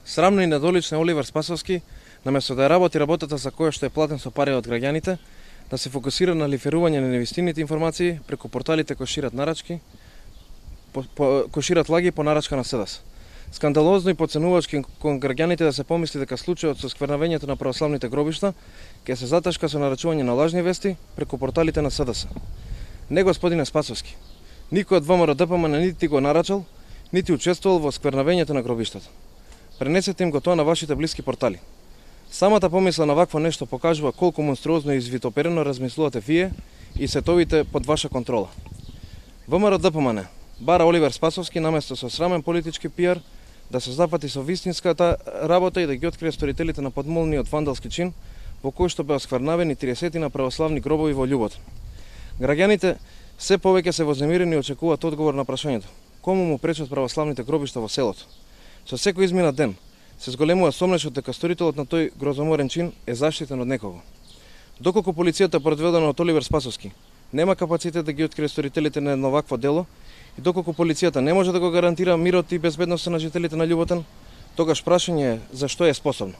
Срамно и недолично е Оливер Спасовски, наместо да ја работи работата за која што е платен со пари од граѓаните, да се фокусира на лиферување на невистините информации преку порталите кои шират нарачки, кои шират лаги по нарачка на СДС. Скандалозно и подценувачки кон граѓаните да се помисли дека случајот со сквернавењето на православните гробишта ќе се заташка со нарачување на лажни вести преку порталите на СДС. Не, господине Спасовски, никој од ВМРО ДПМН нити го нарачал, нити учествувал во сквернавењето на гробиштата. Пренесете им го тоа на вашите блиски портали. Самата помисла на вакво нешто покажува колку монструозно и извитоперено размислувате вие и сетовите под ваша контрола. ВМРО ДПМН бара Оливер Спасовски наместо со срамен политички пиар да се запати со вистинската работа и да ги открие сторителите на подмолниот вандалски чин во кој што беа сквернавени 30 на православни гробови во Љуботон. Граѓаните се повеќе се вознемирени и очекуваат одговор на прашањето: кому му пречат православните гробишта во селото? Со секој изминат ден се зголемува сомнешот дека сторителот на тој грозоморен чин е заштитен од некого. Доколку полицијата предведена од Оливер Спасовски нема капацитет да ги открие сторителите на едно вакво дело и доколку полицијата не може да го гарантира мирот и безбедноста на жителите на Љуботон, тогаш прашање е за што е способно.